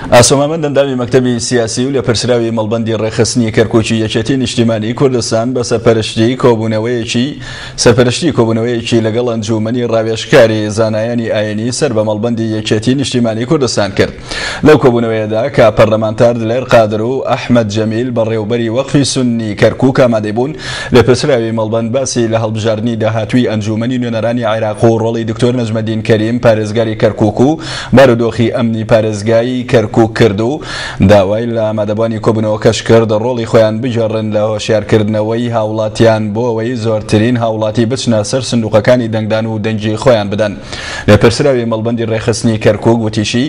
ئاسۆ مامەند ئەندامی مەکتەبی سیاسی و لێپرسراوی مەڵبەندی ڕێکخستنی کەرکوکی یەکێتی نیشتیمانی کوردستان بە سەرپەرشتی کۆبوونەوەیەکی سەرپەرشتی کۆبوونەوەیەکی لەگەڵ ئەنجوومەنی ڕاوێژکاری زانایانی ئاینی سەر بە مەڵبەندی یەکێتی نیشتیمانی کوردستان کرد. لەو کۆبوونەوەیەدا کە پەرلەمانتار دلێر قادر و ئەحمەد جەمیل بەڕێوبەری وەقفی سوننی کەرکوک ئامادەی بوون، لێپرسراوی مەڵبەند باسی لە هەڵبژاردنی داهاتووی ئەنجوومەنی نوێنەرانی عێراق و ڕۆڵی دکتۆر نەجمەدین کەریم پارێزگاری کەرکوک و بارودۆخی ئەمنی پارێزگای کەرکوک کرد و داوای لە ئامادەبوانی کۆبوونەوەکەش کرد ڕۆڵی خۆیان بگێڕن لە هۆشیارکردنەوەی هاوڵاتیان بۆ ئەوەی زۆرترین هاوڵاتی بچنە سەر سندوقەکانی دەنگدان و دەنگی خۆیان بدەن. لێپرسراوی مەڵبەندی ڕێکخستنی کەرکوک وتیشی،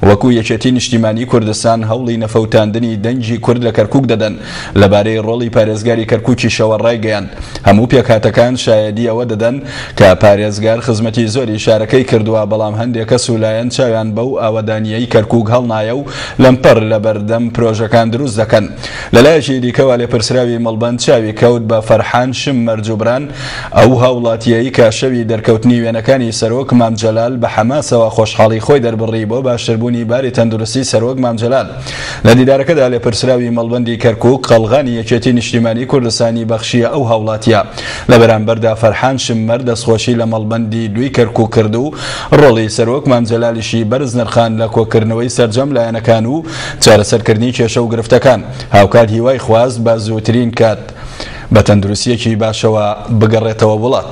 وەکو یەکێتی نیشتیمانی کوردستان هەوڵی نەفەوتاندنی دەنگی کورد لە کەرکوک دەدەن، لەبارەی ڕۆڵی پارێزگاری کەرکوکیشەوە ڕایگەیاند، هەموو پێکهاتەکان شایەدی ئەوە دەدەن کە پارێزگار خزمەتی زۆری شارەکەی کردووە، بەڵام هەندێک کەس و لایەن چاویان بەو ئاوەدانییەی کەرکوک هەڵنایە و لەمپەر لەبەردەم پرۆژەکان دروست دەکەن. لەلایەکی دیکەوە لێپرسراوی مەڵبەند چاوی کەوت بە فەرحان شممەر جوبران، ئەو هاوڵاتییەی کە شەوی دەرکەوتنی وێنەکانی سەرۆک مام جەلال بە حەماسەوە خۆشحاڵی خۆی دەربڕی بۆ باشتربوونی باری تەندروستی سەرۆک مام جەلال. لە دیدارەکەدا لێپرسراوی مەڵبەندی کەرکوک قەڵغانی یەکێتی نیشتیمانی کوردستانی بەخشییە ئەو هاوڵاتییە. لە بەرامبەردا فەرحان شممەر دەستخۆشی لە مەڵبەندی دووی کەرکوک کرد و ڕۆڵی سەرۆک مام جەلالیشی بەرز نرخاند لە کۆکردنەوەی سەرجەم لایەنەکان و چارەسەرکردنی کێشە و گرفتەکان. هاوکات هیوای خواست بە زووترین کات بە تەندروستییەکی باشەوە بگەڕێتەوە وڵات.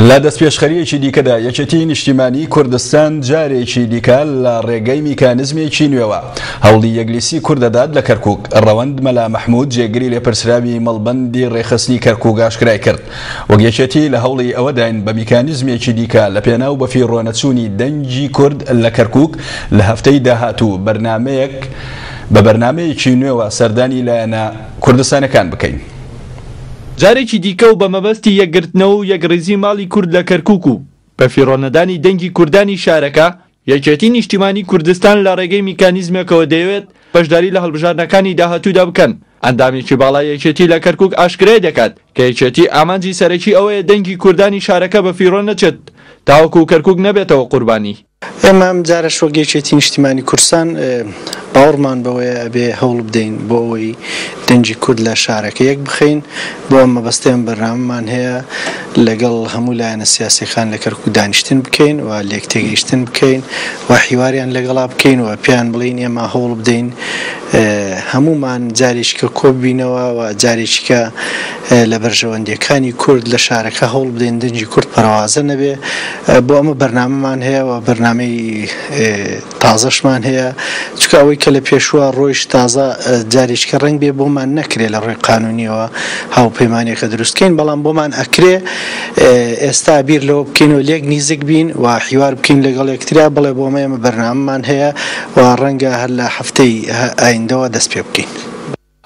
لە دەستپێشخەرییەکی دیکەدا یەکێتیی نیشتیمانیی کوردستان جارێکی دیکە لە ڕێگەی میکانزمێکی نوێوە هەوڵی یەکلیستی کورد دەدات لە کەرکوک. ڕەوەند مەلا مەحمود جێگری لێپرسراوی مەڵبەندی ڕێکخستنی کەرکوک ئاشکرای کرد، وەک یەکێتی لە هەوڵی ئەوەداین بە میکانیزمێکی دیکە لە پێناو بەفیڕۆنەچوونی دەنگی کورد لە کەرکوک لە هەفتەی داهاتوو بەرنامەیەک بە بەرنامەیەکی نوێوە سەردانی لایەنە کوردستانەکان بکەین. جارێکی دیکە و بە مەبەستی یەکگرتنەوە و یەکڕیزی ماڵی کورد لە کەرکوک و بەفیڕۆنەدانی دەنگی کوردانی شارەکە، یەکێتی نیشتیمانی کوردستان لە ڕێگەی میکانیزمێکەوە دەیەوێت بەشداری لە هەڵبژاردنەکانی داهاتوودا بکەن. ئەندامێکی باڵای یەکێتی لە کەرکوک ئاشکرای دەکات کە یەکێتی ئامانجی سەرەکی ئەوەیە دەنگی کوردانی شارەکە بەفیڕۆ نەچێت تاوەکو کەرکوک نەبێتەوە قوربانی. ئێمە ئەم جارەش وەک یەکێتی نیشتیمانی کوردستان باوەڕمان بەوەیە ئەبێ هەوڵ بدەین بۆ ئەوەی دەنگی کورد لە شارەکە یەک بخەین، بۆ ئەم مەبەستە ئێمە بەرنامەمان هەیە لەگەڵ هەموو لایەنە سیاسیەکان لە کەرکوک دانیشتن بکەین و لێکتێگەیشتن بکەین و حیواریان لەگەڵا بکەین و پێیان بڵێین ئێمە هەوڵ بدەین هەموومان جارێکیکە کۆببینەوە و جارێکیکە لە بەرژەوەندیەکانی کورد لە شارەکە هەوڵ بدەین دەنگی کورد پەرەوازە نەبێ. بۆ ئەمە بەرنامەمان هەیە و بەرنامەی تازەشمان هەیە، چونکە ئەوەی کە لە پێشووە ڕۆیشت تازە جارێکیکە ڕەنگ بێ بۆمان نەکرێ لە ڕووی قانونیەوە هاوپەیمانیەکە دروست کەین، بەڵام بۆمان ئەکرێ ئێستا بیر لەوە بکەینەوە لێک نیزک بین و حیوار بکەین لەگەڵ یەکترا، بڵێ بۆ ئەمە ئێمە بەرنامەمان هەیە و ڕەنگە هەر لە هەفتەی ئایندەوە دەست پێ بکەین.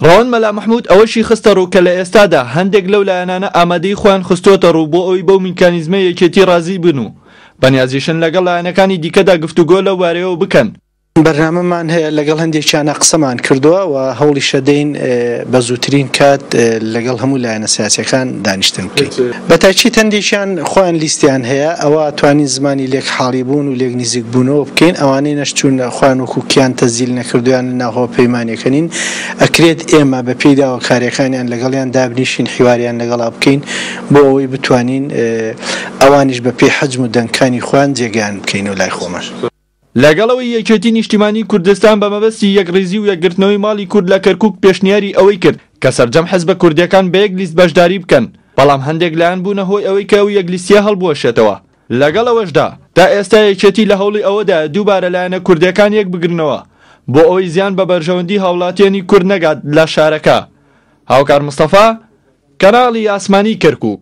ڕەوەند مەلا مەحمود ئەوەشی خستەڕوو کە لە ئێستادا هەندێک لەو لایەنانە ئامادەیی خۆیان خستووەتەڕوو بۆ ئەوەی بەو میکانیزمەی یەکێتی ڕازی بن و بەنیازیشن لەگەڵ لایەنەکانی دیکەدا گفتوگۆ لەو بارەیەوە بکەن. بەرنامەمان هەیە، لەگەڵ هەندێکیانا قسەمان کردووە و هەوڵیشەدەین بە زووترین کات لەگەڵ هەموو لایەنە سیاسییەکان دانیشتن بکەین. بە تاکید هەندێکیان خۆیان لیستیان هەیە، ئەوە توانین زمانی لێک حاڵی بوون و لێک نیزیک بوونەوە بکەین، ئەوانەی نەشچوون خۆیان وەکوو کیان تەسجیل نەکردوو یان لە ناو هاوپەیمانیەکە نین، ئەکرێت ئێمە بە پێی داواکاریەکانیان لەگەڵیان دابنیشین حیواریان لەگەڵا بکەین بۆ ئەوەی بتوانین ئەوانیش بە پێی حەجم و دەنگکانی خۆیان جێگەیان بکەینەوە لای خۆمان. لەگەڵ ئەوەی یەکێتی نیشتیمانی کوردستان بە مەبەستی یەکڕیزی و یەکگرتنەوەی ماڵی کورد لە کەرکوک پێشنیاری ئەوەی کرد کە سەرجەم حزبە کوردیەکان بە یەک لیست بەشداری بکەن، بەڵام هەندێک لایەن بوونە هۆی ئەوەی کە ئەو یەک لیستیە هەڵبوەشێتەوە. لەگەڵ ئەوەشدا تا ئێستا یەکێتی لە هەوڵی ئەوەدایە دووبارە لایەنە کوردیەکان یەکبگرنەوە بۆ ئەوەی زیان بە بەرژەوەندی هاوڵاتیانی کورد نەگات لە شارەکە. هاوکار مستەفا، کەناڵی ئاسمانی کەرکوک.